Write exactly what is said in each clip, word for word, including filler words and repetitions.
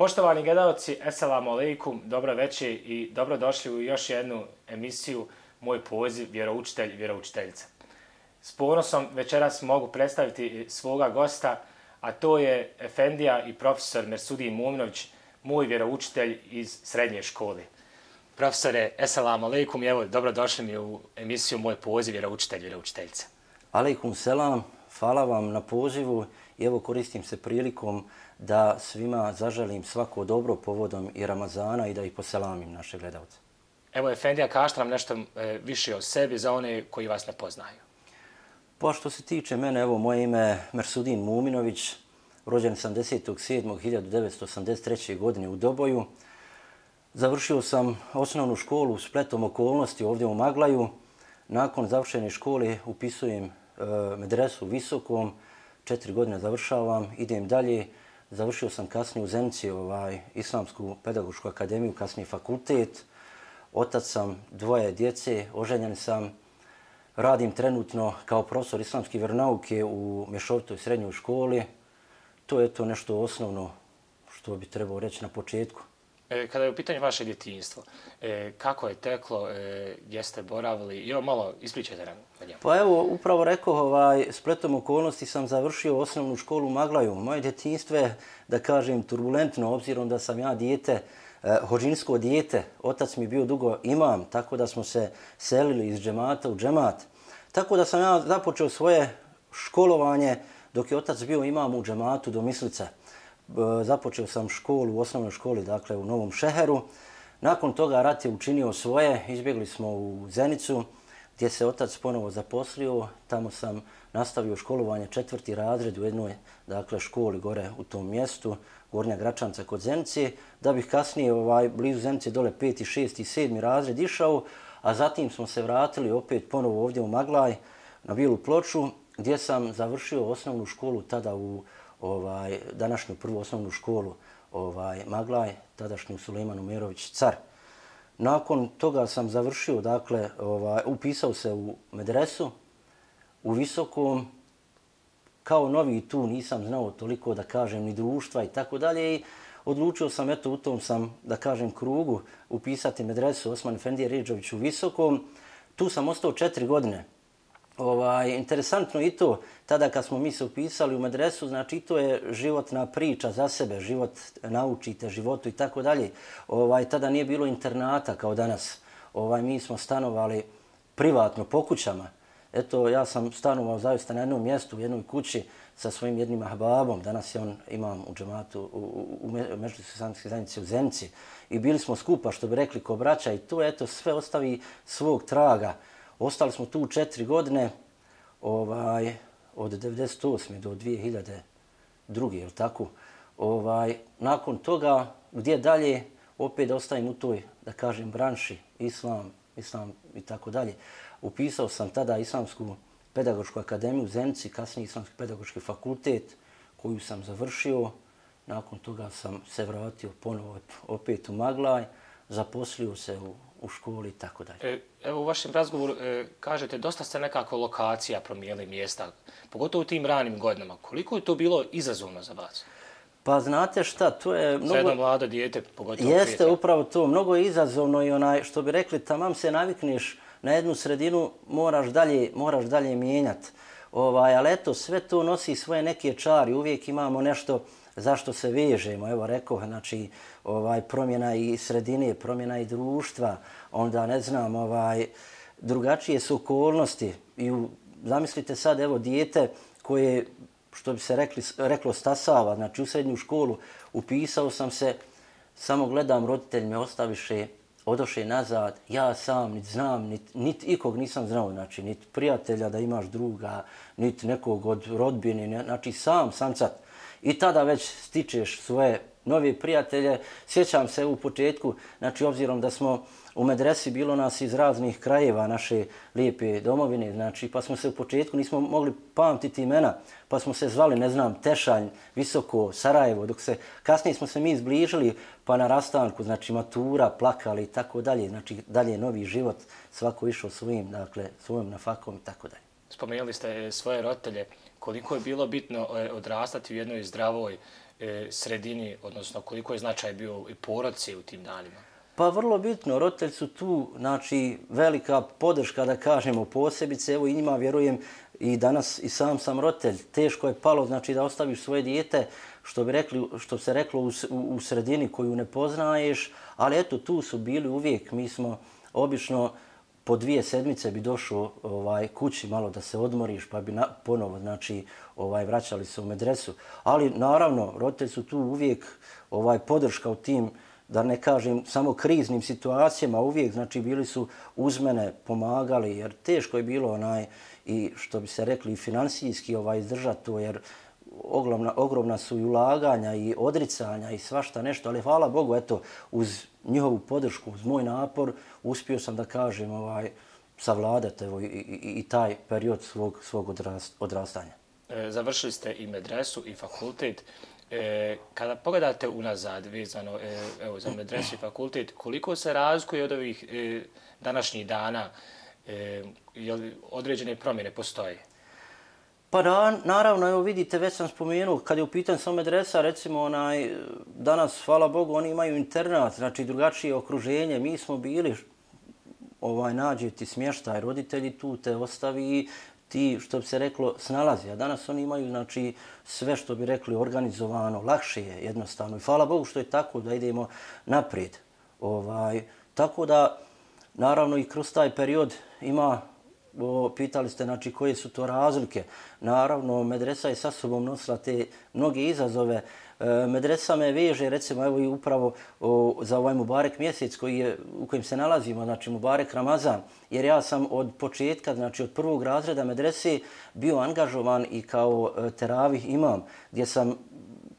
Poštovani gledalci, eselamu alejkum, dobro večer i dobrodošli u još jednu emisiju Moj poziv, vjeroučitelj, vjeroučiteljica. S ponosom večeras mogu predstaviti svoga gosta, a to je efendija i profesor Mersudin Muminović, moj vjeroučitelj iz srednje škole. Profesore, eselamu alejkum i evo, dobrodošli mi u emisiju Moj poziv, vjeroučitelj, vjeroučiteljica. Alejkum selam, hvala vam na pozivu i evo koristim se prilikom da svima zaželim svako dobro povodom i Ramazana i da ih poselamim naše gledalce. Evo, efendija, kažete nam nešto e, više o sebi za one koji vas ne poznaju. Pa što se tiče mene, evo moje ime je Mersudin Muminović, rođen sam desetog sedmog hiljadu devetsto osamdeset treće. godine u Doboju. Završio sam osnovnu školu spletom okolnosti ovdje u Maglaju. Nakon završene škole upisujem e, medresu u Visokom, četiri godine završavam, idem dalje. Završio sam kasnije u Zenici ovaj, Islamsku pedagošku akademiju, kasnije fakultet. Otac sam dvoje djece, oženjen sam. Radim trenutno kao profesor islamske vjeronauke u mješovitoj srednjoj školi. To je to nešto osnovno što bi trebao reći na početku. E, kada je u pitanju vaše djetinjstvo, e, kako je teklo, e, gdje ste boravili? I evo malo ispričajte nam o njemu. Pa evo, upravo rekao, ovaj, spletom okolnosti sam završio osnovnu školu u Maglaju. Moje djetinjstvo je, da kažem, turbulentno, obzirom da sam ja dijete, eh, hođinsko dijete. Otac mi bio dugo imam, tako da smo se selili iz džemata u džemat. Tako da sam ja započeo svoje školovanje dok je otac bio imam u džematu do Mislice. Započeo sam školu u osnovnoj školi, dakle u Novom Šeheru. Nakon toga rat je učinio svoje, izbjegli smo u Zenicu, gdje se otac ponovo zaposlio. Tamo sam nastavio školovanje četvrti razred u jednoj, dakle, školi gore u tom mjestu, Gornja Gračanca kod Zenice, da bih kasnije ovaj, blizu Zenice dole peti, šesti i sedmi razred išao, a zatim smo se vratili opet ponovo ovdje u Maglaj na Bijelu Ploču, gdje sam završio osnovnu školu tada u ovaj, današnju prvu osnovnu školu ovaj, Maglaj, tadašnju Sulejman Umerović car. Nakon toga sam završio, dakle, ovaj, upisao se u medresu, u Visokom. Kao novi tu nisam znao toliko, da kažem, ni društva i tako dalje. I odlučio sam, eto, u tom sam, da kažem, krugu upisati medresu Osman Efendije Redžović u Visokom. Tu sam ostao četiri godine. Ovaj, interesantno i to, tada kad smo mi se upisali u medresu, znači to je životna priča za sebe, život naučite, životu i tako dalje. Ovaj, tada nije bilo internata kao danas. Ovaj, mi smo stanovali privatno po kućama. Eto, ja sam stanovao zaista na jednom mjestu, u jednoj kući sa svojim jednim ahbabom. Danas je on imam u džematu, u, u, u Međuljudskoj islamskoj zajednici u Zenici. I bili smo skupa, što bi rekli, ko braća, i to eto sve ostavi svog traga. Ostali smo tu četiri godine, ovaj, od devedeset osme do dvije hiljade druge. Jel tako? Ovaj, nakon toga, gdje dalje, opet ostajem u toj, da kažem, branši, islam, islam i tako dalje. Upisao sam tada Islamsku pedagošku akademiju u Zenici, kasnije Islamski pedagoški fakultet, koju sam završio. Nakon toga sam se vratio ponovo opet u Maglaj, zaposlio se u u školi i tako dalje. Evo u vašem razgovoru e, kažete dosta ste nekako lokacija promijenili mjesta, pogotovo u tim ranim godinama. Koliko je to bilo izazovno za vas? Pa znate šta, to je mnogo... Za jedno mlado dijete, pogotovo Jeste prijatelj. Upravo to, mnogo je izazovno i onaj, što bi rekli, tamam se navikneš na jednu sredinu, moraš dalje, moraš dalje mijenjati. Ovaj, ali eto, sve to nosi svoje neke čari, uvijek imamo nešto zašto se vežemo. Evo rekao, znači, ovaj, promjena i sredine, promjena i društva, onda ne znam, ovaj, drugačije su okolnosti. I u, zamislite sad, evo, dijete koje, što bi se rekli, reklo, stasava, znači u srednju školu, upisao sam se, samo gledam, roditelj me ostaviše, odoše nazad, ja sam niti znam, niti nit ikog nisam znao, znači niti prijatelja da imaš druga, niti nekog od rodbine, znači sam, samcat. I tada već stičeš svoje nove prijatelje. Sjećam se u početku, znači obzirom da smo u medresi bilo nas iz raznih krajeva naše lijepe domovine, znači pa smo se u početku nismo mogli pamtiti imena, pa smo se zvali, ne znam, Tešanj, Visoko, Sarajevo, dok se kasnije smo se mi zbližili, pa na rastanku, znači matura, plakali i tako dalje, znači dalje novi život, svako išao svojim, dakle, svojom nafakom i tako dalje. Spomenuli ste svoje roditelje, koliko je bilo bitno odrastati u jednoj zdravoj e, sredini, odnosno koliko je značaj bio i porodice u tim danima? Pa vrlo bitno, roditelji su tu, znači velika podrška da kažemo posebice, evo i njima vjerujem i danas i sam sam roditelj, teško je palo znači da ostaviš svoje dijete, što bi rekli, što se reklo u, u sredini koju ne poznaješ, ali eto tu su bili uvijek, mi smo obično po dvije sedmice bi došao ovaj, kući malo da se odmoriš pa bi na, ponovo znači, ovaj, vraćali se u medresu. Ali naravno, roditelji su tu uvijek ovaj, podrška u tim, da ne kažem samo kriznim situacijama, uvijek znači bili su uz mene, pomagali, jer teško je bilo onaj, i što bi se rekli, financijski ovaj, izdržati to, jer ogromna, ogromna su i ulaganja i odricanja i svašta nešto, ali hvala Bogu, eto, uz njihovu podršku, uz moj napor, uspio sam da kažem ovaj, savladati evo, i, i, i taj period svog, svog odrast, odrastanja. E, završili ste i medresu i fakultet. E, kada pogledate unazad vezano e, evo, za medresu i fakultet, koliko se razlikuje od ovih e, današnjih dana, e, jel određene promjene postoje? Pa da, naravno, evo vidite, već sam spomenuo, kad je u pitanju samo medresa, recimo onaj, danas, hvala Bogu, oni imaju internat, znači drugačije okruženje, mi smo bili, ovaj, nađe ti smještaj, roditelji tu te ostavi, ti, što bi se reklo, snalazi. A danas oni imaju, znači, sve što bi rekli organizovano, lakše je jednostavno. I hvala Bogu što je tako da idemo naprijed. Ovaj, tako da, naravno, i kroz taj period ima, o, pitali ste, znači, koje su to razlike. Naravno, medresa je sa sobom nosila te mnoge izazove. E, medresa me veže, recimo, evo i upravo o, za ovaj Mubarek mjesec koji je, u kojem se nalazimo, znači Mubarek Ramazan, jer ja sam od početka, znači od prvog razreda medrese bio angažovan i kao e, teravih imam, gdje sam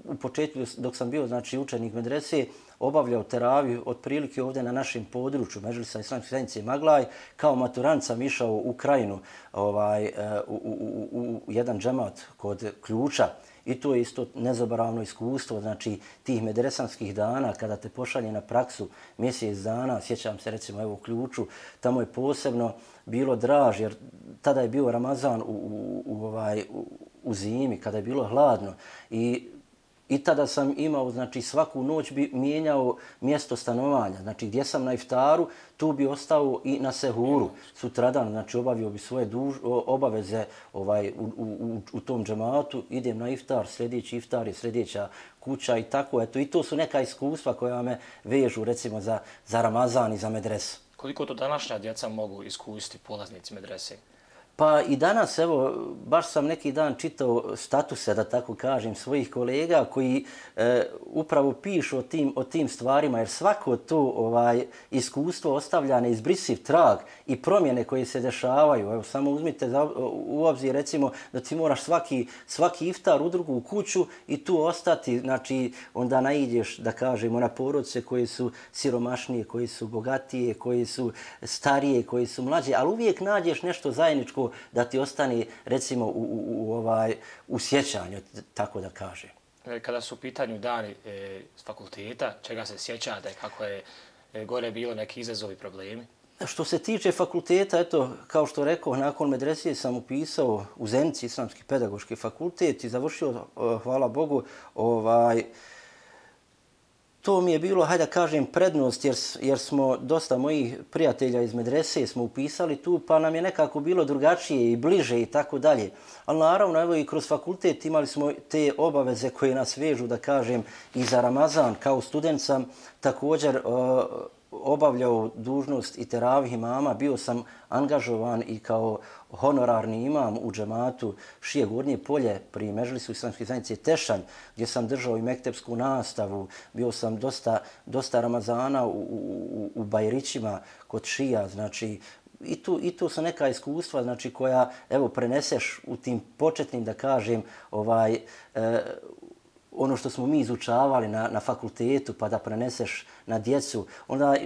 u početku, dok sam bio znači učenik medrese, obavljao teraviju otprilike ovdje na našem području Medžlisa Islamske zajednice Maglaj. Kao maturant sam išao u Krajinu, ovaj, u, u, u, u jedan džemat kod Ključa. I to je isto nezaboravno iskustvo, znači tih medresanskih dana kada te pošalje na praksu mjesec dana, sjećam se recimo evo u Ključu, tamo je posebno bilo draž jer tada je bio Ramazan u, u, u, ovaj, u, u zimi, kada je bilo hladno i I tada sam imao, znači svaku noć bi mijenjao mjesto stanovanja. Znači gdje sam na iftaru, tu bi ostao i na sehuru. Sutradan, znači obavio bi svoje duž, obaveze ovaj, u, u, u tom džematu, idem na iftar, sljedeći iftar je sljedeća kuća i tako. Eto, i to su neka iskustva koja me vežu recimo za, za Ramazan i za medresu. Koliko to današnja djeca mogu iskusiti polaznici medrese? Pa i danas, evo, baš sam neki dan čitao statuse, da tako kažem, svojih kolega koji e, upravo pišu o tim, o tim stvarima, jer svako to ovaj, iskustvo ostavlja neizbrisiv trag i promjene koje se dešavaju. Evo, samo uzmite za, u obzir, recimo, da ti moraš svaki, svaki iftar u drugu kuću i tu ostati, znači, onda naiđeš, da kažemo, na porodice koje su siromašnije, koje su bogatije, koje su starije, koje su mlađe, ali uvijek nađeš nešto zajedničko da ti ostane, recimo, u, u, u, ovaj, u sjećanju, tako da kažem. Kada su u pitanju dani e, s fakulteta, čega se sjećate, kako je e, gore bilo neki izazovi, problemi? Što se tiče fakulteta, eto, kao što rekao, nakon medresije sam upisao u Zenici Islamski pedagoški fakultet i završio, hvala Bogu, ovaj, to mi je bilo, hajde da kažem, prednost jer, jer smo dosta mojih prijatelja iz medrese smo upisali tu, pa nam je nekako bilo drugačije i bliže i tako dalje. Ali naravno, evo i kroz fakultet imali smo te obaveze koje nas vežu, da kažem, i za Ramazan. Kao student sam također uh, obavljao dužnost i teravih imama, bio sam angažovan i kao honorarni imam u džematu Šije Gornje polje pri Medžlisu Islamske zajednice Tešanj, gdje sam držao i mektepsku nastavu, bio sam dosta, dosta Ramazana u, u, u Bajrićima kod Šija, znači i tu, i tu su neka iskustva znači koja evo preneseš u tim početnim, da kažem, ovaj e, ono što smo mi izučavali na, na fakultetu pa da preneseš na djecu. Onda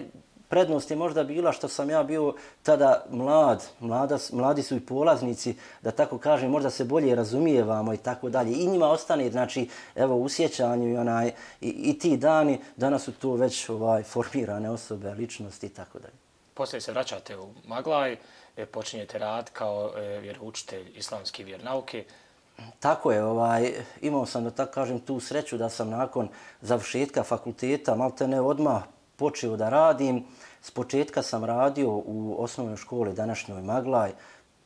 prednost je možda bila što sam ja bio tada mlad, mlada, mladi su i polaznici, da tako kažem, možda se bolje razumijevamo i tako dalje. I njima ostane, znači, evo, u sjećanju i, onaj, i, i ti dani, danas su to već ovaj, formirane osobe, ličnosti i tako dalje. Poslije se vraćate u Maglaj, počinjete rad kao vjeroučitelj islamske vjernauke. Tako je, ovaj, imao sam, da tako kažem, tu sreću da sam nakon završetka fakulteta maltene odmah počeo da radim. S početka sam radio u osnovnoj školi današnjoj Maglaj,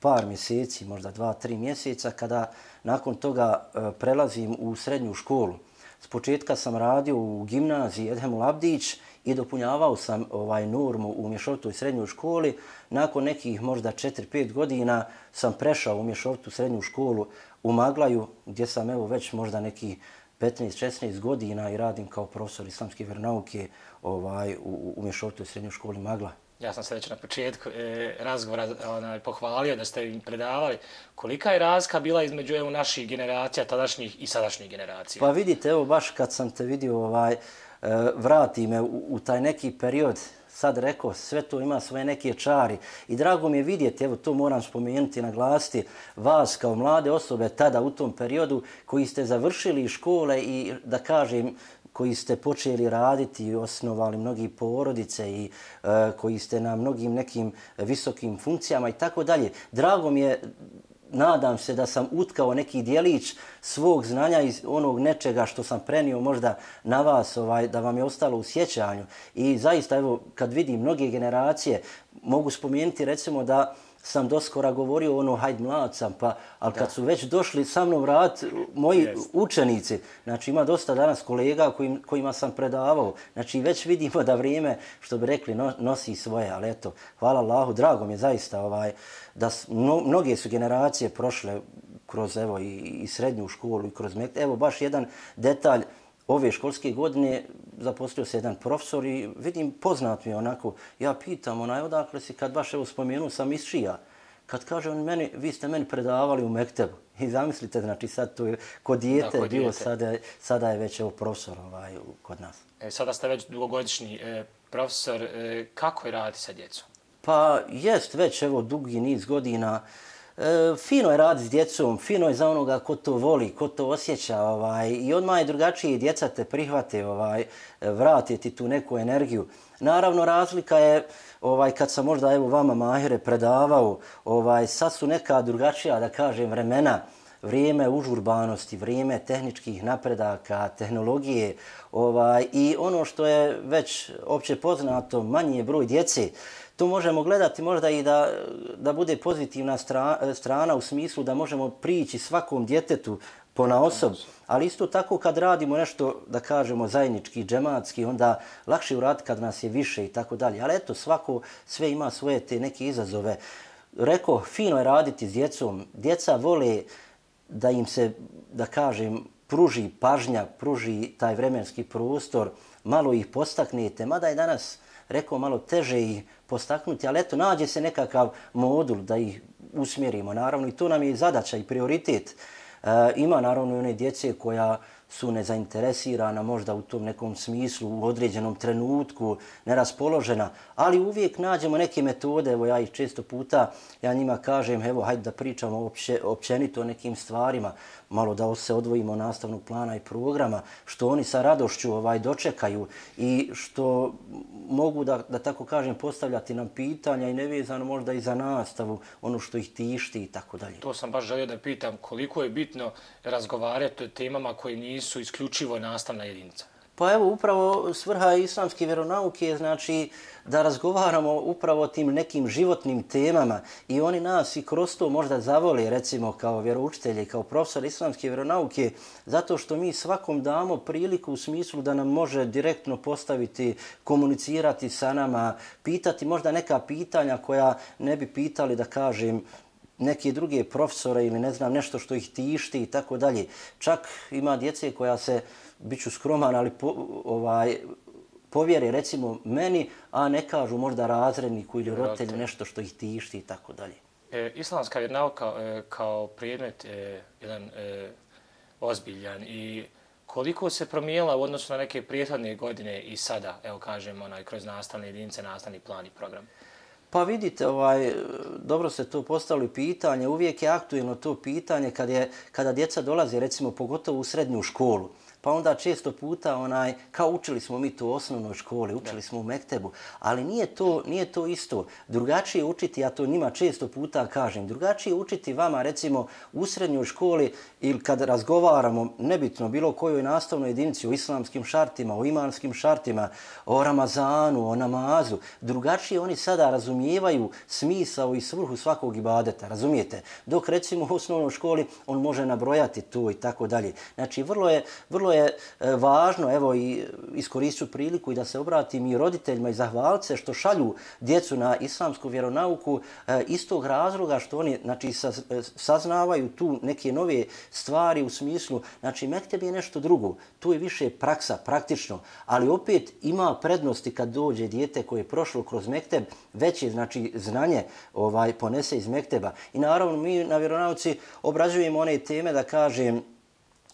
par mjeseci, možda dva, tri mjeseca, kada nakon toga e, prelazim u srednju školu. S početka sam radio u gimnaziji Edhemul Abdić i dopunjavao sam ovaj normu u mješovitoj srednjoj školi. Nakon nekih možda četiri pet godina sam prešao u mješovitu srednju školu u Maglaju, gdje sam evo već možda nekih petnaest šesnaest godina i radim kao profesor islamske vjeronauke ovaj, u, u mješovitoj srednjoj školi Magla. Ja sam se već na početku e, razgovora onaj, pohvalio da ste im predavali. Kolika je razlika bila između evo, naših generacija, tadašnjih i sadašnjih generacija? Pa vidite, evo baš kad sam te vidio, ovaj, e, vrati me u, u taj neki period, sad rekao, sve to ima svoje neke čari. I drago mi je vidjeti, evo to moram spomenuti, naglasiti, vas kao mlade osobe tada u tom periodu koji ste završili škole i da kažem, koji ste počeli raditi i osnovali mnogi porodice i uh, koji ste na mnogim nekim visokim funkcijama i tako dalje. Drago mi je, nadam se da sam utkao neki dijelić svog znanja iz onog nečega što sam prenio možda na vas, ovaj, da vam je ostalo u sjećanju. I zaista, evo, kad vidim mnoge generacije, mogu spomenuti recimo da sam doskora govorio ono, hajde mlad sam, pa, ali kad su već došli sa mnom rad moji yes. učenici, znači ima dosta danas kolega kojim, kojima sam predavao, znači već vidimo da vrijeme, što bi rekli, no, nosi svoje, ali eto, hvala Allahu, drago mi je zaista ovaj, da mno, mnoge su generacije prošle kroz evo, i, i srednju školu i kroz mek. Evo baš jedan detalj, ove školske godine zaposlio se jedan profesor i vidim, poznat mi je onako, ja pitam onaj odakle si, kad baš evo spomenu sam iz Šija, kad kaže on meni, vi ste meni predavali u Mektebu. I zamislite, znači sad to je kod dijete, da, bilo, sada, sada je već evo profesor ovaj, kod nas. E, sada ste već dugogodišnji e, profesor, e, kako je raditi sa djecom? Pa jest već evo dugi niz godina. E, fino je raditi s djecom, fino je za onoga ko to voli, ko to osjeća ovaj, i odmah je drugačije, djeca te prihvate, ovaj, vrate ti tu neku energiju. Naravno, razlika je ovaj, kad sam možda evo vama Mahire predavao, ovaj, sad su neka drugačija, da kažem, vremena, vrijeme užurbanosti, vrijeme tehničkih napredaka, tehnologije ovaj, i ono što je već opće poznato, manji je broj djece. To možemo gledati možda i da, da bude pozitivna strana, strana u smislu da možemo prići svakom djetetu ponaosob, ali isto tako kad radimo nešto, da kažemo, zajednički, džematski, onda lakše uraditi kad nas je više i tako dalje. Ali eto, svako sve ima svoje te neke izazove. Reko, fino je raditi s djecom. Djeca vole da im se, da kažem, pruži pažnja, pruži taj vremenski prostor, malo ih postaknete, mada je danas, rekao, malo teže ih postaknuti, ali eto, nađe se nekakav modul da ih usmjerimo, naravno, i to nam je zadaća i prioritet. E, ima, naravno, i one djece koja su nezainteresirana, možda u tom nekom smislu, u određenom trenutku, neraspoložena, ali uvijek nađemo neke metode, evo ja ih često puta, ja njima kažem, evo, hajde da pričamo opće, općenito o nekim stvarima, malo da se odvojimo nastavnog plana i programa, što oni sa radošću ovaj, dočekaju i što mogu, da, da tako kažem, postavljati nam pitanja i nevezano možda i za nastavu, ono što ih tišti i tako dalje. To sam baš želio da pitam, koliko je bitno razgovarati o temama koje nisu isključivo nastavna jedinica? Pa evo, upravo svrha islamske vjeronauke je znači da razgovaramo upravo o tim nekim životnim temama i oni nas i kroz to možda zavole, recimo kao vjeroučitelji, kao profesor islamske vjeronauke, zato što mi svakom damo priliku u smislu da nam može direktno postaviti, komunicirati sa nama, pitati možda neka pitanja koja ne bi pitali, da kažem, neke druge profesore ili ne znam nešto što ih tišti i tako dalje. Čak ima djece koja se, bit ću skroman, ali po, ovaj, povjere recimo meni, a ne kažu možda razredniku ili roditelju nešto što ih tišti i tako dalje. E, islamska vjeronauka e, kao predmet je jedan e, ozbiljan i koliko se promijenila u odnosu na neke prethodne godine i sada, evo kažemo, onaj, kroz nastavne jedinice, nastavni plan i program? Pa vidite, ovaj, dobro se to postavili pitanje, uvijek je aktuelno to pitanje kad je, kada djeca dolaze, recimo pogotovo u srednju školu. pa onda često puta onaj, kao učili smo mi to u osnovnoj školi, učili smo u mektebu, ali nije to, nije to isto. Drugačije učiti, ja to njima često puta kažem, drugačije učiti vama recimo u srednjoj školi ili kad razgovaramo, nebitno bilo kojoj nastavnoj jedinici, o islamskim šartima, o imanskim šartima, o Ramazanu, o namazu, drugačije oni sada razumijevaju smisao i svrhu svakog ibadeta, razumijete? Dok recimo u osnovnoj školi on može nabrojati to i tako dalje. Znači vrlo je, vrlo je važno, evo i iskoristit ću priliku i da se obratim i roditeljima i zahvalit se što šalju djecu na islamsku vjeronauku iz tog razloga što oni znači, saznavaju tu neke nove stvari u smislu, znači mekteb je nešto drugo, tu je više praksa, praktično, ali opet ima prednosti kad dođe dijete koje je prošlo kroz mekteb, veće znači znanje ovaj ponese iz mekteba. I naravno mi na vjeronauci obrađujemo one teme da kažem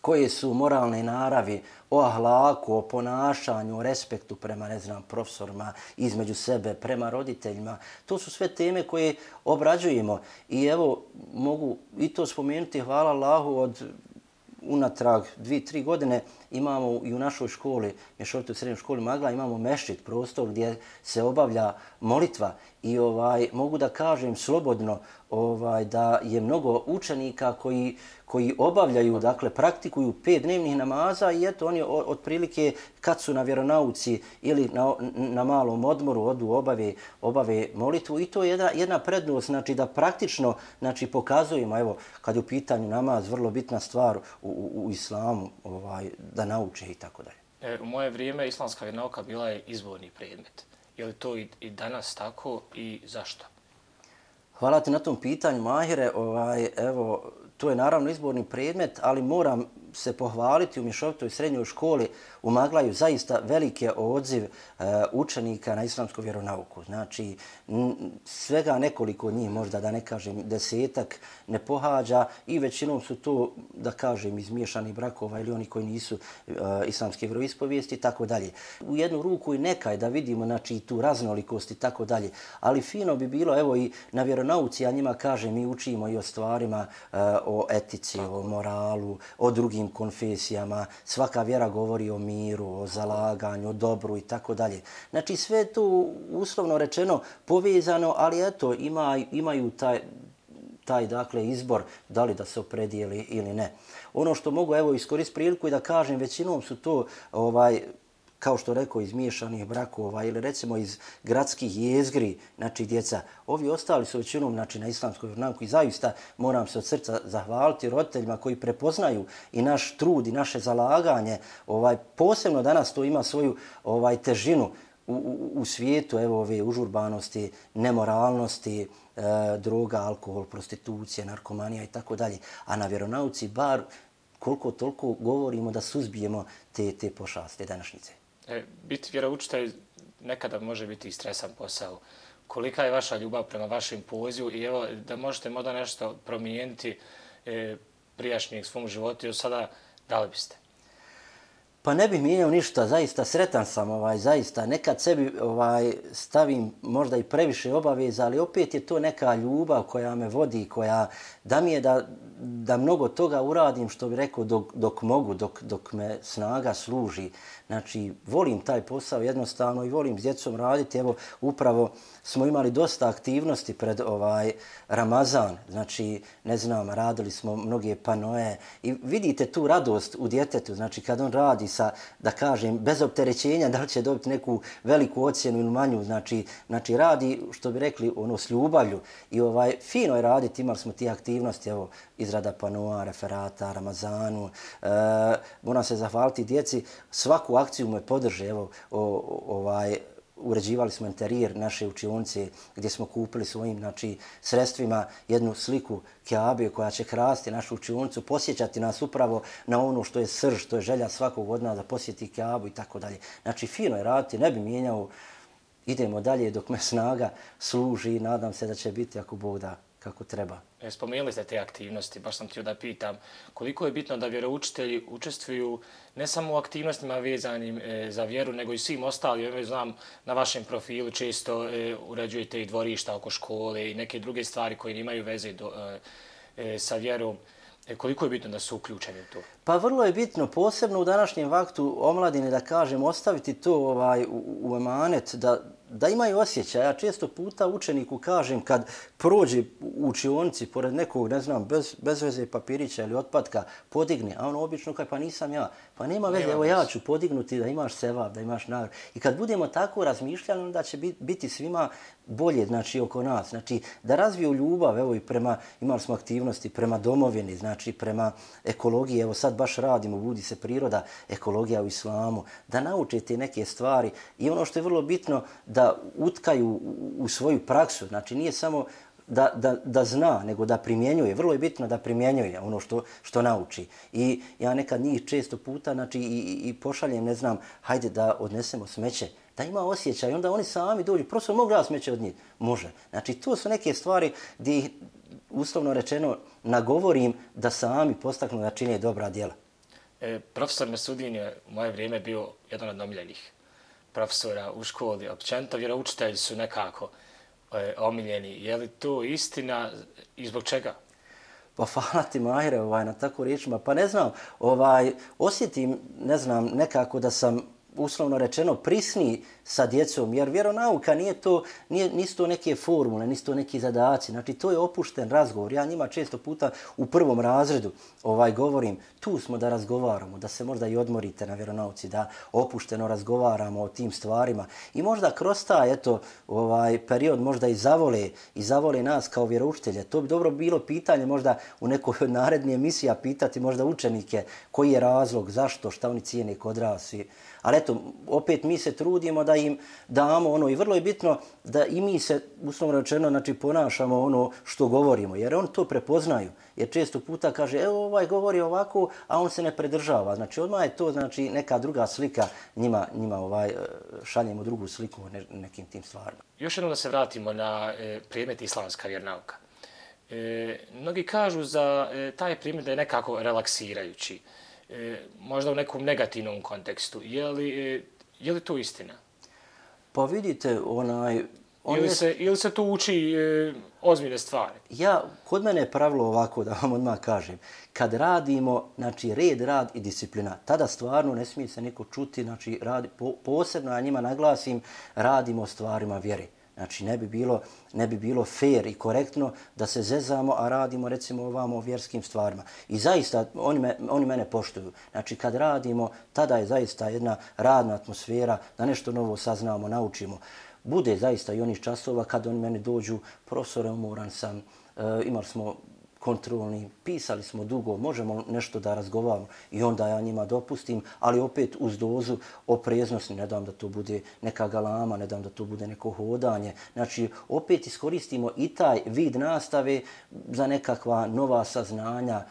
koje su moralne naravi, o ahlaku, o ponašanju, o respektu prema, ne znam, profesorima, između sebe, prema roditeljima. To su sve teme koje obrađujemo. I evo, mogu i to spomenuti, hvala Allahu, od unatrag dvije, tri godine imamo i u našoj školi, mješovitoj srednjoj školi Magla, imamo mešćid, prostor gdje se obavlja molitva i ovaj mogu da kažem slobodno ovaj da je mnogo učenika koji koji obavljaju, dakle praktikuju pet dnevnih namaza i eto oni otprilike kad su na vjeronauci ili na, na malom odmoru odu obave obave molitvu i to je jedna jedna prednost, znači da praktično znači pokazujemo, evo kad je u pitanju namaz vrlo bitna stvar u, u, u islamu, ovaj da nauče i tako dalje. U moje vrijeme islamska vjeronauka bila je izborni predmet. Je li to i, i danas tako i zašto? Hvala ti na tom pitanju, Mahire. Ovaj, evo, to je naravno izborni predmet, ali moram se pohvaliti u mješovitoj srednjoj školi u Maglaju zaista velike odziv e, učenika na islamsku vjeronauku. Znači, n, svega nekoliko njih, možda da ne kažem desetak, ne pohađa i većinom su to, da kažem, izmiješanih brakova ili oni koji nisu e, islamske vjeroispovijesti i tako dalje. U jednu ruku i nekaj da vidimo znači, tu raznolikost i tako dalje. Ali fino bi bilo, evo i na vjeronauci, ja njima kažem, mi učimo i o stvarima, e, o etici, o moralu, o drugim konfesijama, svaka vjera govori o miru, o zalaganju, o dobru i tako dalje. Znači sve je to uslovno rečeno povezano, ali eto ima, imaju taj, taj dakle izbor da li da se opredijeli ili ne. Ono što mogu evo iskoristiti priliku i da kažem, većinom su to ovaj kao što rekao, iz miješanih brakova ili recimo iz gradskih jezgri, znači djeca. Ovi ostali su većinom znači, na islamskoj vjeronauci i zaista moram se od srca zahvaliti roditeljima koji prepoznaju i naš trud i naše zalaganje. Ovaj, posebno danas to ima svoju ovaj, težinu u, u, u svijetu, evo ove užurbanosti, nemoralnosti, e, droga, alkohol, prostitucija, narkomanija i tako dalje. A na vjeronauci bar koliko toliko govorimo da suzbijemo te, te pošasti današnjice. E, biti vjeroučitelj nekada može biti i stresan posao. Kolika je vaša ljubav prema vašem pozivu i evo da možete možda nešto promijeniti e, prijašnjeg svom životu i sada da li biste? Pa ne bih mijenjao ništa, zaista sretan sam, ovaj, zaista. Nekad sebi ovaj, stavim možda i previše obaveza, ali opet je to neka ljubav koja me vodi, koja da mi je da, da mnogo toga uradim, što bih rekao, dok, dok mogu, dok, dok me snaga služi. Znači, volim taj posao jednostavno i volim s djecom raditi. Evo, upravo smo imali dosta aktivnosti pred ovaj Ramazan. Znači, ne znam, radili smo mnoge panoje i vidite tu radost u djetetu. Znači, kad on radi sa, da kažem, bez opterećenja, da li će dobiti neku veliku ocjenu ili manju, znači, znači radi, što bi rekli, ono, s ljubavlju. I ovaj, fino je raditi, imali smo ti aktivnosti, evo, izrada panoa, referata, Ramazanu. E, moram se zahvaliti djeci, svaku akciju me podrže, evo, o, o, ovaj, uređivali smo interijer naše učionice gdje smo kupili svojim znači, sredstvima jednu sliku Kjabe koja će krasti našu učionicu, posjećati nas upravo na ono što je srž, što je želja svakog od nas da posjeti Kjabu i tako dalje. Znači, fino je raditi, ne bi mijenjao, idemo dalje dok me snaga služi i nadam se da će biti ako Bog da kako treba. Spomenuli ste te aktivnosti, baš sam htio da pitam koliko je bitno da vjeroučitelji učestvuju ne samo u aktivnostima vezanim e, za vjeru, nego i svim ostalim. Ja znam, na vašem profilu često e, uređujete i dvorišta oko škole i neke druge stvari koje imaju veze do, e, e, sa vjerom. E, koliko je bitno da su uključeni u to? Pa vrlo je bitno, posebno u današnjem vaktu omladine, da kažem, ostaviti to ovaj, u, u emanet, da, da imaju osjećaj. Ja često puta učeniku kažem kad prođe u učionici pored nekog, ne znam, bez, bez veze papirića ili otpatka, podigne, a on obično kaže pa nisam ja. Pa nema veze, evo ja ću podignuti da imaš sevap, da imaš nagradu. I kad budemo tako razmišljali, onda će biti svima bolje, znači, oko nas. Znači, da razviju ljubav, evo i prema, imali smo aktivnosti prema domovini, znači, prema ekologiji, evo sad baš radimo, budi se priroda, ekologija u islamu, da nauče te neke stvari i ono što je vrlo bitno, da utkaju u, u svoju praksu, znači, nije samo da, da, da zna, nego da primjenjuje. Vrlo je bitno da primjenjuje ono što, što nauči. I ja nekad njih često puta, znači, i, i, i pošaljem, ne znam, hajde da odnesemo smeće, da ima osjećaj, onda oni sami dođu, prosto mogu ja smeće od njih? Može. Znači, to su neke stvari gdje ih, uslovno rečeno, nagovorim da sami postaknu da čine dobra djela. E, profesor Mesudin je u moje vrijeme bio jedan od omiljenih profesora u školi. Općenito vjeroučitelji su nekako e, omiljeni. Je li to istina i zbog čega? Pa hvala ti, Mahire, ovaj, na tako riječima. Pa ne znam, ovaj, osjetim, ne znam, nekako da sam uslovno rečeno prisniji sa djecom, jer vjeronauka nije to, nije, nisu to neke formule, nisu to neki zadaci, znači to je opušten razgovor. Ja njima često puta u prvom razredu ovaj, govorim, tu smo da razgovaramo, da se možda i odmorite na vjeronauci, da opušteno razgovaramo o tim stvarima i možda kroz taj eto, ovaj, period možda i zavole, i zavole nas kao vjeroučitelje. To bi dobro bilo pitanje možda u nekoj od narednih emisija pitati možda učenike koji je razlog, zašto, šta oni cijene kod nas. Ali eto, opet mi se trudimo da im damo ono i vrlo je bitno da i mi se, uslovno rečeno, znači ponašamo ono što govorimo, jer on to prepoznaju. Jer često puta kaže, evo ovaj govori ovako, a on se ne predržava. Znači odmah je to znači neka druga slika, njima, njima ovaj, šaljemo drugu sliku o ne, nekim tim stvarima. Još jednom da se vratimo na e, predmet islamska vjernauka. E, mnogi kažu za e, taj predmet da je nekako relaksirajući. E, možda u nekom negativnom kontekstu. Je li, e, je li to istina? Pa vidite, onaj... On ili, je... se, ili se tu uči e, ozbiljne stvari? Ja, kod mene je pravilo ovako, da vam odmah kažem. Kad radimo, znači red, rad i disciplina, tada stvarno ne smije se niko čuti, znači radi, po, posebno ja njima naglasim, radimo o stvarima vjere. Znači ne bi bilo, ne bi bilo fair i korektno da se zezamo, a radimo recimo ovamo o vjerskim stvarima. I zaista oni, me, oni mene poštuju. Znači kad radimo, tada je zaista jedna radna atmosfera da nešto novo saznamo, naučimo. Bude zaista i onih časova kad oni meni dođu, profesore, umoran sam, e, imali smo kontrolni, pisali smo dugo, možemo nešto da razgovaramo i onda ja njima dopustim, ali opet uz dozu opreznosti, ne dam da to bude neka galama, ne dam da to bude neko hodanje. Znači, opet iskoristimo i taj vid nastave za nekakva nova saznanja,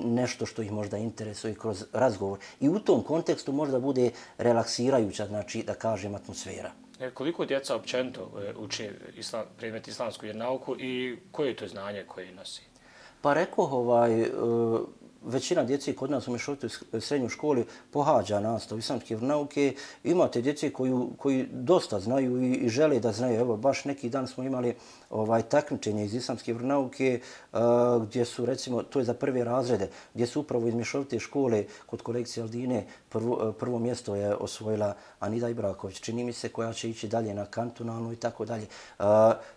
nešto što ih možda interesuje kroz razgovor. I u tom kontekstu možda bude relaksirajuća, znači, da kažem, atmosfera. Koliko djeca općenito uči islam, predmet islamsku vjernauku i koje je to znanje koje nosi? Pa rekoh, ovaj, većina djece kod nas u mješovitoj srednjoj školi pohađa nastavu islamske vjernauke. Imate djece koju, koji dosta znaju i, i žele da znaju. Evo, baš neki dan smo imali ovaj, takmičenje iz islamske vjernauke uh, gdje su, recimo, to je za prve razrede, gdje su upravo iz mješovite škole kod kolekcije Aldine prvo, prvo mjesto je osvojila Anida Ibraković, čini mi se, koja će ići dalje na kantonalnu i tako dalje. Uh,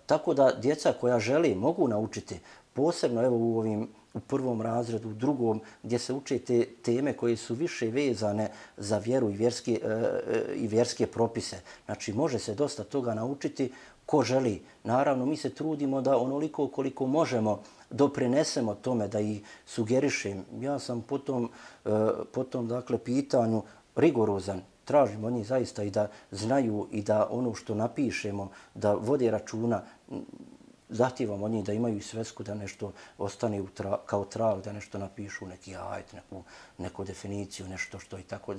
tako da djeca koja žele mogu naučiti, posebno evo u ovim u prvom razredu, u drugom, gdje se uče te teme koje su više vezane za vjeru i vjerske, e, i vjerske propise. Znači, može se dosta toga naučiti ko želi. Naravno, mi se trudimo da onoliko koliko možemo doprinesemo tome, da ih sugerišem. Ja sam po tom, e, po tom dakle, pitanju rigorozan. Tražim od njih zaista i da znaju i da ono što napišemo, da vode računa. Zahtijevam od njih da imaju svesku, da nešto ostane u tra, kao trag, da nešto napišu, neki ajet, neku, neku definiciju, nešto što i tako.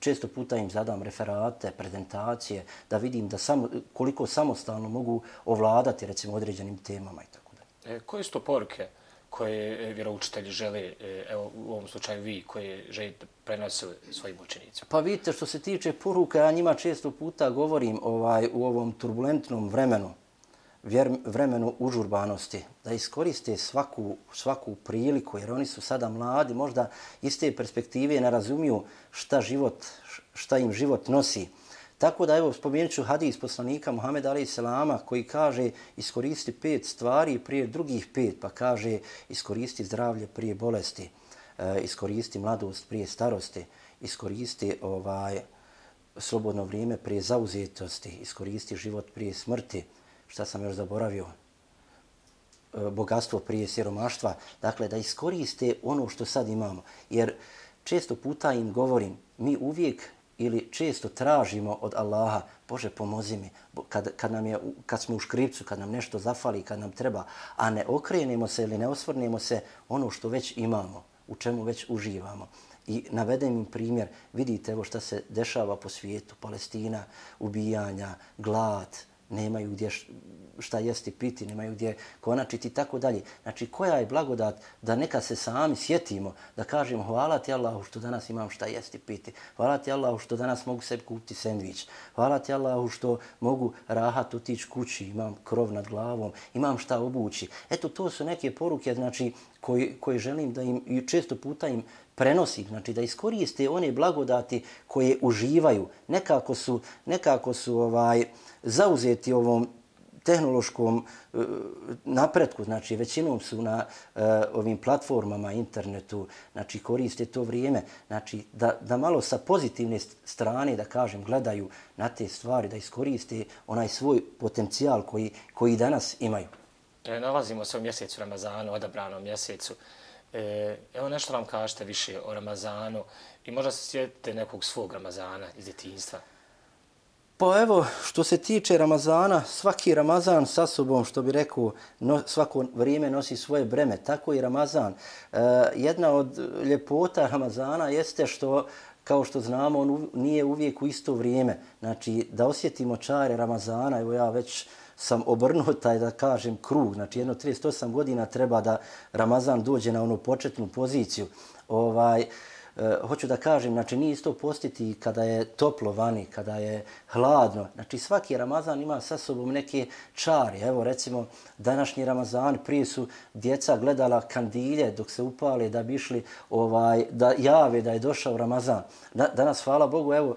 Često puta im zadam referate, prezentacije, da vidim da samo, koliko samostalno mogu ovladati recimo određenim temama i tako dalje. E, koje su to poruke koje vjeroučitelji žele, evo u ovom slučaju vi, koje želite prenositi svojim učenicima? Pa vidite, što se tiče poruka, ja njima često puta govorim ovaj, u ovom turbulentnom vremenu, vremenu užurbanosti, da iskoriste svaku, svaku priliku, jer oni su sada mladi, možda iz te perspektive ne razumiju šta, život, šta im život nosi. Tako da evo spomenut ću hadis poslanika Muhameda alejhi selama koji kaže iskoristi pet stvari prije drugih pet, pa kaže iskoristi zdravlje prije bolesti, e, iskoristi mladost prije starosti, iskoristi ovaj, slobodno vrijeme prije zauzetosti, iskoristi život prije smrti, šta sam još zaboravio, e, bogatstvo prije siromaštva, dakle da iskoriste ono što sad imamo. Jer često puta im govorim, mi uvijek ili često tražimo od Allaha, Bože pomozi mi, kad, kad, nam je, kad smo u škripcu, kad nam nešto zafali, kad nam treba, a ne okrenemo se ili ne osvrnemo se ono što već imamo, u čemu već uživamo. I navedem im primjer, vidite evo šta se dešava po svijetu, Palestina, ubijanja, glad, nemaju gdje šta jesti, piti, nemaju gdje konačiti i tako dalje. Znači, koja je blagodat da neka se sami sjetimo, da kažemo hvala ti Allahu što danas imam šta jesti, piti. Hvala ti Allahu što danas mogu sebi kupiti sendvič. Hvala ti Allahu što mogu rahat otići kući, imam krov nad glavom, imam šta obući. Eto, to su neke poruke, znači, koje, koje želim da im, i često puta im prenosim, znači da iskoriste one blagodati koje uživaju. Nekako su, nekako su ovaj, zauzeti ovom tehnološkom uh, napretku, znači većinom su na uh, ovim platformama, internetu, znači koriste to vrijeme, znači da, da malo sa pozitivne strane, da kažem, gledaju na te stvari, da iskoriste onaj svoj potencijal koji, koji danas imaju. E, nalazimo se u mjesecu Ramazanu, odabranom mjesecu. E, evo nešto nam kažete više o Ramazanu i možda se sjetite nekog svog Ramazana iz djetinjstva. Pa evo, što se tiče Ramazana, svaki Ramazan sa sobom, što bi rekao, no, svako vrijeme nosi svoje breme, tako i Ramazan. E, jedna od ljepota Ramazana jeste što, kao što znamo, on nije uvijek u isto vrijeme. Znači, da osjetimo čare Ramazana, evo ja već sam obrnuo taj, da kažem, krug. Znači, jedno trideset osam godina treba da Ramazan dođe na onu početnu poziciju. Ovaj, e, hoću da kažem, znači, nije isto postiti kada je toplo vani, kada je hladno. Znači, svaki Ramazan ima sa sobom neke čari. Evo, recimo, današnji Ramazan, prije su djeca gledala kandilje dok se upale da bi išli, ovaj, da jave da je došao Ramazan. Da, danas, hvala Bogu, evo,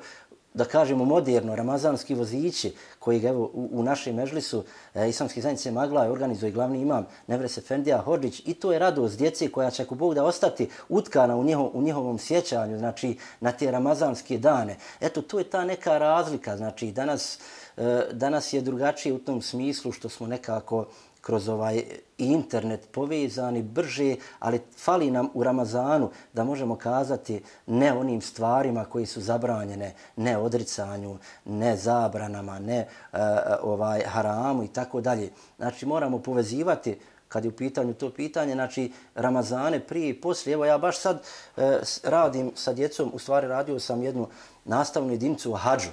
da kažemo moderno, ramazanski vozići koji evo u, u našem mežlisu e, Islamske zajednice Magla organizuje glavni imam Nevres Efendija Hodžić i to je radost djece koja će ako Bog da ostati utkana u, njiho, u njihovom sjećanju, znači na te ramazanske dane. Eto, to je ta neka razlika, znači danas, e, danas je drugačije u tom smislu što smo nekako kroz ovaj internet povezani brže, ali fali nam u Ramazanu da možemo kazati ne onim stvarima koji su zabranjene, ne odricanju, ne zabranama, ne uh, ovaj haramu i tako dalje. Znači moramo povezivati kad je u pitanju to pitanje, znači Ramazane prije i poslije. Evo ja baš sad uh, radim sa djecom, u stvari radio sam jednu nastavnu jedinicu o hadžu.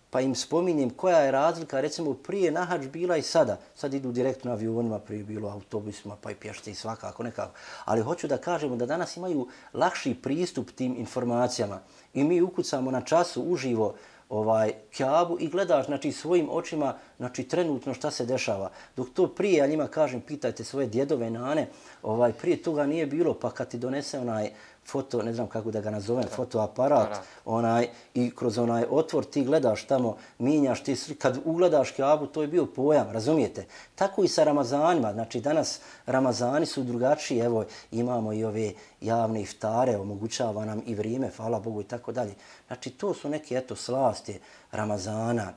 Pa im spominjem koja je razlika, recimo prije na hadž bila i sada. Sad idu direktno avionima, prije bilo autobusima, pa i pješce i svakako nekako. Ali hoću da kažemo da danas imaju lakši pristup tim informacijama. I mi ukucamo na času uživo ovaj Kjabu i gledaš znači svojim očima znači trenutno šta se dešava. Dok to prije, ja njima kažem, pitajte svoje djedove, nane, ovaj prije toga nije bilo, pa kad ti donese onaj foto, ne znam kako da ga nazovem, fotoaparat, onaj, i kroz onaj otvor ti gledaš tamo, minjaš ti sli, kad ugledaš Kjabu, to je bio pojam, razumijete? Tako i sa Ramazanima, znači danas Ramazani su drugačiji, evo imamo i ove javne iftare, omogućava nam i vrijeme, hvala Bogu i tako dalje. Znači to su neke, eto, slasti Ramazana.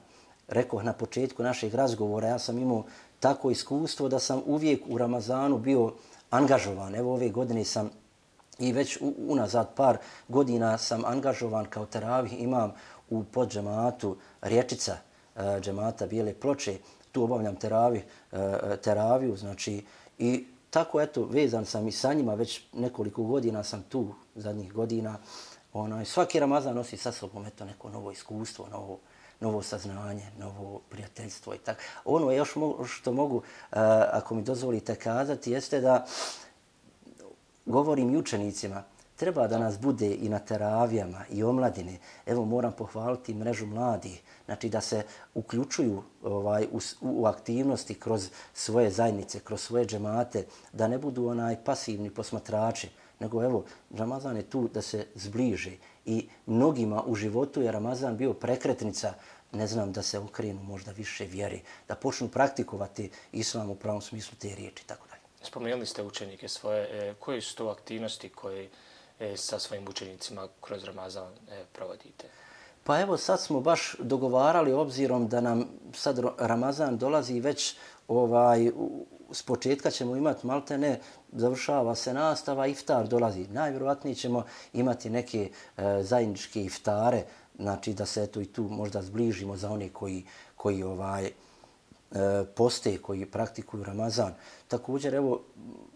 Rekoh na početku našeg razgovora, ja sam imao tako iskustvo da sam uvijek u Ramazanu bio angažovan. Evo ove godine sam i već u, unazad par godina sam angažovan kao teravih imam u podžematu Rječica, e, džemata Bijele Ploče. Tu obavljam teravih, e, teraviju, znači i tako eto vezan sam i sa njima, već nekoliko godina sam tu, zadnjih godina. Onaj, svaki Ramazan nosi sa sobom eto neko novo iskustvo, novo, novo saznanje, novo prijateljstvo i tako. Ono još mo- što mogu, e, ako mi dozvolite kazati, jeste da govorim i učenicima, treba da nas bude i na teravijama i omladine. Evo moram pohvaliti mrežu mladih, znači da se uključuju ovaj, u, u aktivnosti kroz svoje zajednice, kroz svoje džemate, da ne budu onaj pasivni posmatrači, nego evo, Ramazan je tu da se zbliže i mnogima u životu je Ramazan bio prekretnica, ne znam, da se okrenu možda više vjeri, da počnu praktikovati islam u pravom smislu te riječi, tako dalje. Spomenuli ste učenike svoje, koje su to aktivnosti koje sa svojim učenicima kroz Ramazan provodite? Pa evo sad smo baš dogovarali, obzirom da nam sad Ramazan dolazi već ovaj, s početka ćemo imati maltene, završava se nastava, iftar dolazi. Najvjerovatnije ćemo imati neke e, zajedničke iftare, znači da se eto i tu možda zbližimo za one koji, koji ovaj, poste, koji praktikuju Ramazan. Također, evo,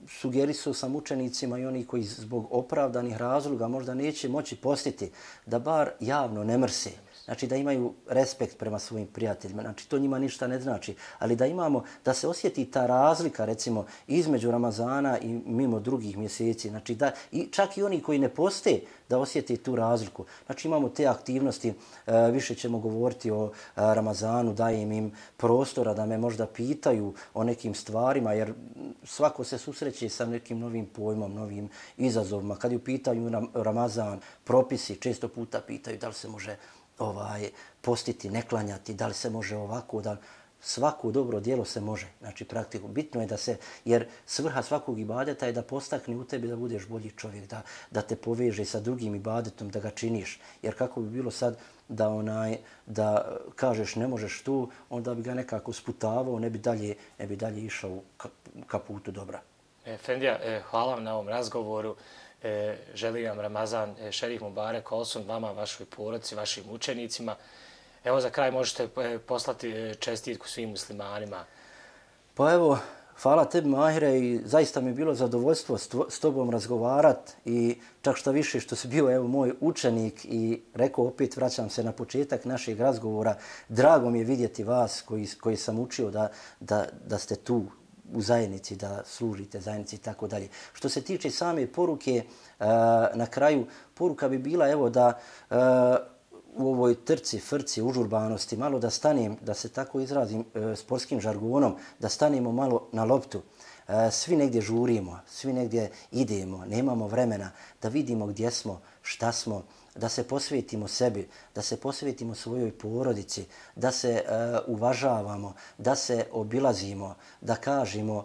sugerisao sam učenicima i oni koji zbog opravdanih razloga možda neće moći postiti, da bar javno ne mrse. Znači da imaju respekt prema svojim prijateljima. Znači to njima ništa ne znači. Ali da imamo, da se osjeti ta razlika recimo između Ramazana i mimo drugih mjeseci. Znači da i čak i oni koji ne poste da osjeti tu razliku. Znači imamo te aktivnosti, e, više ćemo govoriti o e, Ramazanu, dajem im prostora da me možda pitaju o nekim stvarima, jer svako se susreće sa nekim novim pojmom, novim izazovima. Kad je u pitanju Ramazan, propisi često puta pitaju da li se može ovaj postiti, ne klanjati, da li se može ovako, da svako dobro djelo se može, znači praktiku. Bitno je da se, jer svrha svakog ibadeta je da postakne u tebi da budeš bolji čovjek, da, da te poveže sa drugim ibadetom, da ga činiš. Jer kako bi bilo sad da onaj da kažeš ne možeš tu, onda bi ga nekako sputavao, ne bi dalje, ne bi dalje išao ka, ka putu dobra. Efendija, hvala vam na ovom razgovoru. E, želim vam Ramazan, e, šerif Mubarek olsun, vama, vašoj porodici, vašim učenicima. Evo za kraj možete e, poslati e, čestitku svim muslimanima. Pa evo, hvala tebi Mahire i zaista mi je bilo zadovoljstvo s, tvo, s tobom razgovarat i čak što više što si bio evo moj učenik i rekao opet vraćam se na početak našeg razgovora. Drago mi je vidjeti vas koji, koji sam učio da, da, da ste tu u zajednici, da služite zajednici i tako dalje. Što se tiče same poruke, na kraju poruka bi bila evo da u ovoj trci, frci, užurbanosti malo da stanem, da se tako izrazim sportskim žargonom, da stanemo malo na loptu. Svi negdje žurimo, svi negdje idemo, nemamo vremena da vidimo gdje smo, šta smo, da se posvetimo sebi, da se posvetimo svojoj porodici, da se uh, uvažavamo, da se obilazimo, da kažemo uh,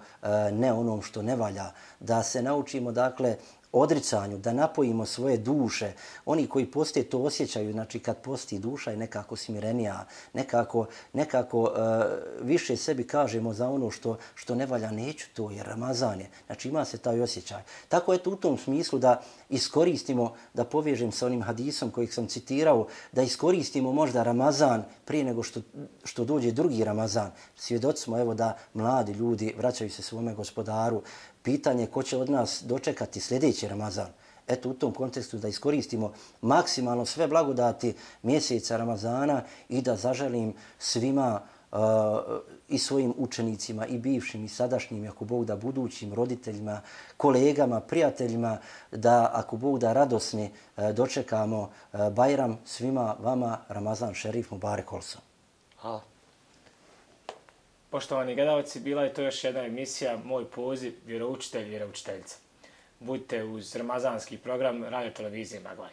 ne onom što ne valja, da se naučimo dakle odricanju, da napojimo svoje duše. Oni koji poste to osjećaju, znači kad posti duša je nekako smirenija, nekako, nekako uh, više sebi kažemo za ono što, što ne valja, neću to jer Ramazan je. Znači ima se taj osjećaj. Tako je to u tom smislu da iskoristimo, da povežem sa onim hadisom kojeg sam citirao, da iskoristimo možda Ramazan prije nego što, što dođe drugi Ramazan. Svjedoci smo evo da mladi ljudi vraćaju se svome gospodaru. Pitanje ko će od nas dočekati sljedeći Ramazan. Eto u tom kontekstu da iskoristimo maksimalno sve blagodati mjeseca Ramazana i da zaželim svima uh, i svojim učenicima i bivšim i sadašnjim, ako Bog da budućim roditeljima, kolegama, prijateljima, da ako Bog da radosni uh, dočekamo uh, Bajram svima vama Ramazan šerif Mubarek olsun. Hvala. Poštovani gledalci, bila je to još jedna emisija Moj poziv, vjeroučitelj, vjeroučiteljica. Budite uz ramazanski program Radio Televizije Maglaj.